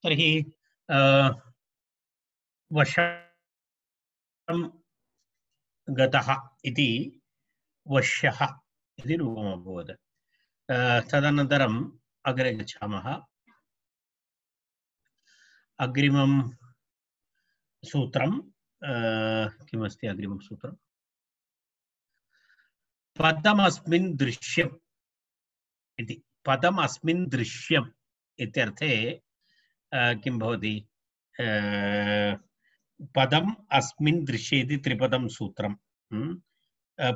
तर्हि वशं गतः इति वश्यः इति रूपम् अभवत्। तदनन्तरम् अग्रे गच्छामः। अग्रिमं सूत्रं किमस्ति? अग्रिमं सूत्रं पदमस्मिन् दृश्यम् इति। पदमस्मिन् दृश्यम् इत्यर्थे किं भवति? पदम् अस्मिन् दृश्ये इति त्रिपदं सूत्रं।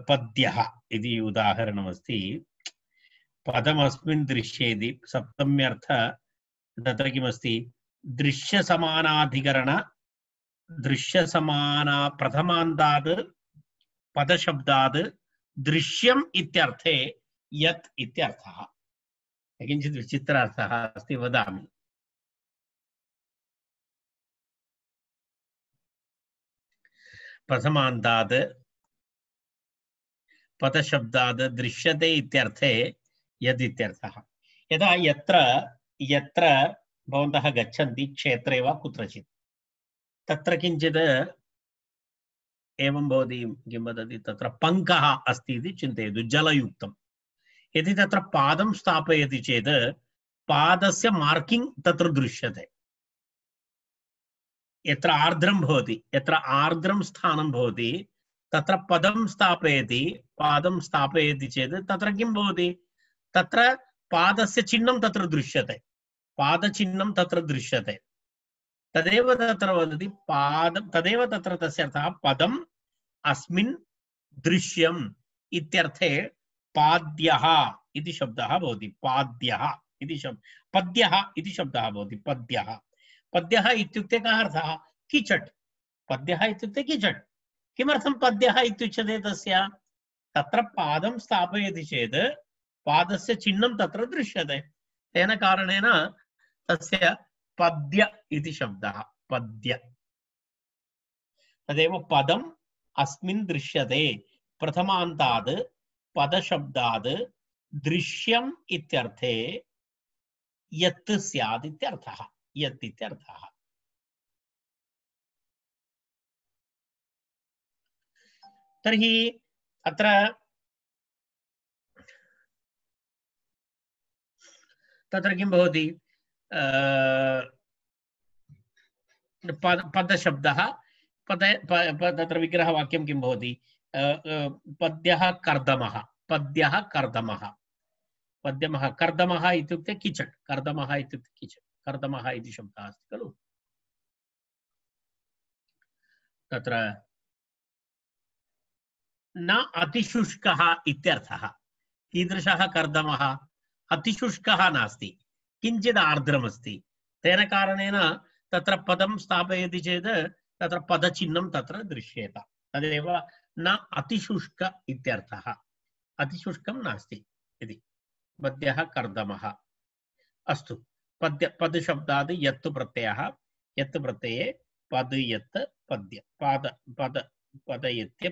पद्यः इति उदाहरणमस्ति। पदमस्मिन् दृश्ये इति सप्तम्यर्थ तत्र किमस्ति? दृश्यसमानाधिकरण दृश्यसमाना प्रथमान्तात् पदशब्दात् दृश्यम् इत्यर्थे यत् इत्यर्थः। किञ्चित् विचित्रार्थः अस्ति, वदामि। प्रथमान्तात् पदशब्दात् दृश्यते इत्यर्थे यद् इत्यर्थः। यदा यत्र भवन्तः गच्छन्ति क्षेत्रे वा कुत्रचित्, तत्र किञ्चित् एवं भवति, किं वदति, तत्र पङ्कः अस्ति इति चिन्तयतु, जलयुक्तं। यदि तत्र पादं स्थापयति चेत् पादस्य मार्किंग तत्र दृश्यते। यत्र आर्द्रं भवति, यत्र आर्द्रं स्थानं भवति, तत्र पदं स्थापयति, पादं स्थापयति चेत् तत्र किं भवति? तत्र पादस्य चिह्नं तत्र दृश्यते, पादचिह्नं तत्र दृश्यते। तदेव तत्र वदति पादं, तदेव तत्र तस्य अर्थः पदम् अस्मिन् दृश्यम् इत्यर्थे पाद्यः इति शब्दः भवति। पाद्यः इति शब्दः, पद्यः इति शब्दः भवति। पद्यः, पद्यः इत्युक्ते कः अर्थः? किचट्। पद्यः इत्युक्ते किचट्। किमर्थं पद्यः इत्युच्यते? तस्य तत्र पादं स्थापयति चेत् पादस्य चिह्नं तत्र दृश्यते, तेन कारणेन तस्य पद्य इति शब्दः। पद्य, तदेव पदम् अस्मिन् दृश्यते प्रथमान्तात् पदशब्दात् दृश्यम् इत्यर्थे यत् स्यात् इत्यर्थः। यत् इत्यर्थः। तर्हि अत्र तत्र किं भवति? पदशब्दः, तत्र विग्रहवाक्यं किं भवति? पद्यः कर्दमः, पद्यः कर्दमः, पद्यमः कर्दमः इत्युक्ते किचट्। कर्दमः इत्युक्ते किचट्, कर्दमः इति शब्दः अस्ति खलु। तत्र न अतिशुष्कः इत्यर्थः। कीदृशः कर्दमः? अतिशुष्कः नास्ति, किञ्चित् आर्द्रमस्ति। तेन कारणेन तत्र पदं स्थापयति चेत् तत्र पदचिह्नं तत्र दृश्येत। तदेव न अतिशुष्क इत्यर्थः। अतिशुष्कं नास्ति इति। पद्यः कर्दमः। अस्तु, पदशब्दात् यत् प्रत्ययः, यत् प्रत्यये पद यत् पद्य, पदयत्य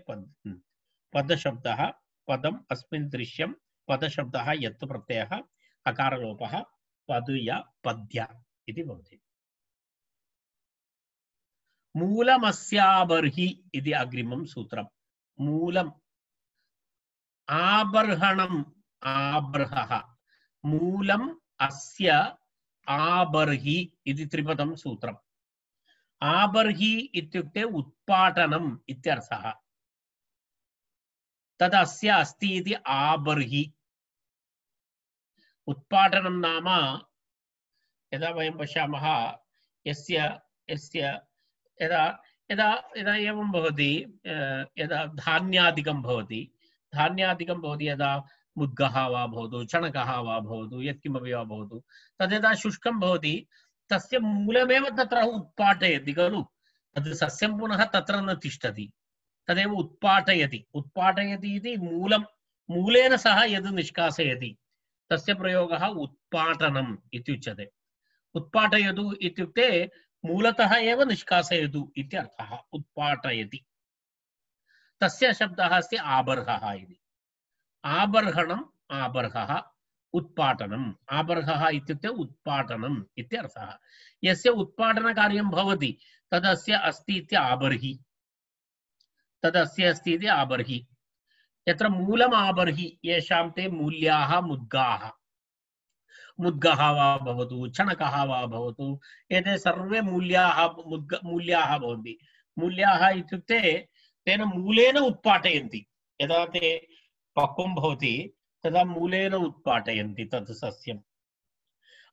पदशब्दः पदम् अस्मिन् दृश्यं, पदशब्दः यत् प्रत्ययः अकारलोपः पदय पद्य इति भवति। मूलमस्याबर्हि इति अग्रिमं सूत्रम्। मूलम् आबर्हणम्, आबर्हः, मूलम् अस्य आबर्हि इति त्रिपदं सूत्रम्। आबर्हि इत्युक्ते उत्पाटनम् इत्यर्थः। तदस्य अस्ति इति आबर्हि। उत्पाटनं नाम यदा वयं पश्यामः, यदा यदा यदा एवं भवति, यदा धान्यादिकं भवति, यदा मुद्गः वा भवतु, चणकः वा भवतु, यत्किमपि वा भवतु, तद्यदा शुष्कं भवति, तस्य मूलमेव तत्र उत्पाटयति खलु। तद् सस्यं पुनः तत्र न तिष्ठति, तदेव उत्पाटयति। उत्पाटयति इति मूलं, मूलेन सह यद् निष्कासयति तस्य प्रयोगः उत्पाटनम् इत्युच्यते। उत्पाटयतु इत्युक्ते मूलतः एव निष्कासयतु इत्यर्थः। उत्पाटयति, तस्य शब्दः अस्ति आबर्हः इति। आबर्हणम्, आबर्हः, उत्पाटनम् आबर्हः इत्युक्ते उत्पाटनम् इत्यर्थः यस्य उत्पाटनकार्यं भवति तदस्य अस्ति इति आबर्हि तदस्य अस्ति इति आबर्हि यत्र मूलम् आबर्हि येषां ते मूल्याः मुद्गाः मुद्गः वा भवतु चणकः वा भवतु एते सर्वे मूल्याः भवन्ति मूल्याः इत्युक्ते तेन मूलेन उत्पाटयन्ति यदा ते पक्वं भवति तदा मूलेन उत्पाटयन्ति तत् सस्यम्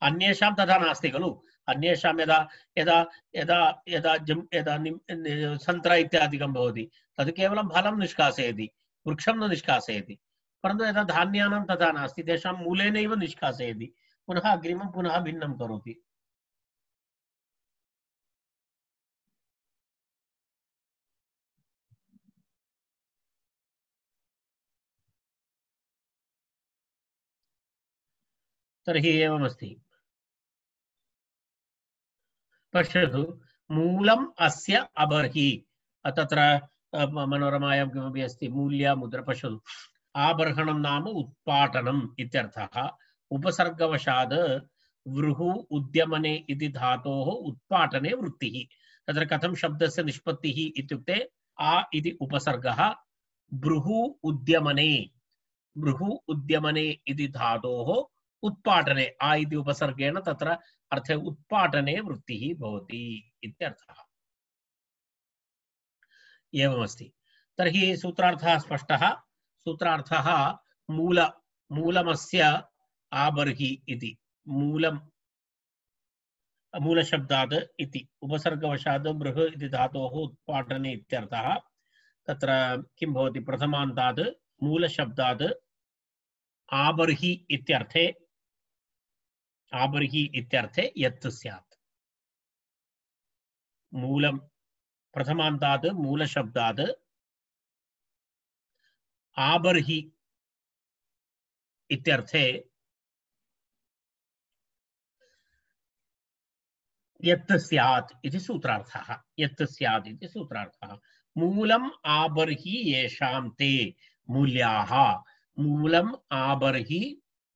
अन्येषां तथा नास्ति खलु अन्येषां यदा यदा यदा यदा यदा सन्त्रा इत्यादिकं भवति तद् केवलं फलं निष्कासयति वृक्षं न निष्कासयति परन्तु यदा धान्यानां तथा नास्ति तेषां मूलेनैव निष्कासयति पुनः अग्रिमं पुनः भिन्नं करोति तर्हि एवमस्ति पश्यतु मूलम् अस्य अबर्हि तत्र मनोरमायां किमपि अस्ति मूल्या मुद्रा पश्यतु आबर्हणं नाम उत्पाटनम् इत्यर्थः उपसर्गवशात् वृहु उद्यमने इति धातोः उत्पाटने वृत्तिः तत्र कथं शब्दस्य निष्पत्तिः इत्युक्ते आ इति उपसर्गः भृहु उद्यमने इति धातोः उत्पाटने आ इति उपसर्गेण तत्र अर्थे उत्पाटने वृत्तिः भवति इत्यर्थः एवमस्ति तर्हि सूत्रार्थः स्पष्टः सूत्रार्थः मूलमस्य आबर्हि इति मूलशब्दात् इति उपसर्गवशात् बृह इति धातोः उत्पाटने इत्यर्थः तत्र किं भवति प्रथमान्तात् मूलशब्दात् आबर्हि इत्यर्थे यत् स्यात् मूलं प्रथमान्तात् मूलशब्दात् आबर्हि इत्यर्थे यत् स्यात् इति सूत्रार्थः यत् स्यात् इति सूत्रार्थः मूलम् आबर्हि येषां ते मूल्याः मूलम् आबर्हि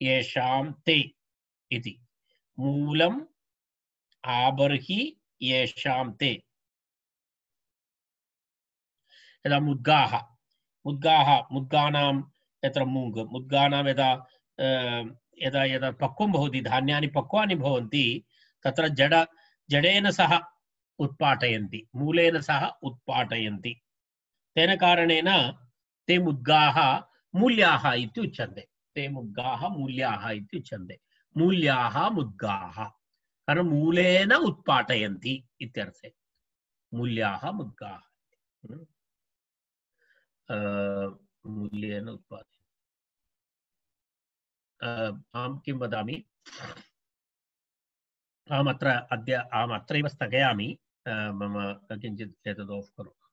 येषां ते इति मूलम् आबर्हि येषां ते यदा मुद्गानां यत्र मुद्गानां यदा यदा यदा पक्वं भवति धान्यानि पक्वानि भवन्ति तत्र जडेन सह उत्पाटयन्ति मूलेन सह उत्पाटयन्ति तेन कारणेन ते मुद्गाः मूल्याः इति उच्यन्ते ते मुद्गाः मूल्याः इति उच्यन्ते मूल्याः मुद्गाः कारण मूलेन उत्पाटयन्ति इत्यर्थे मूल्याः मुद्गाः मूल्येन उत्पादयन्ति अहं किं वदामि अहमत्रैव स्थगयामि मम किञ्चित् एतद् आफ् करोतु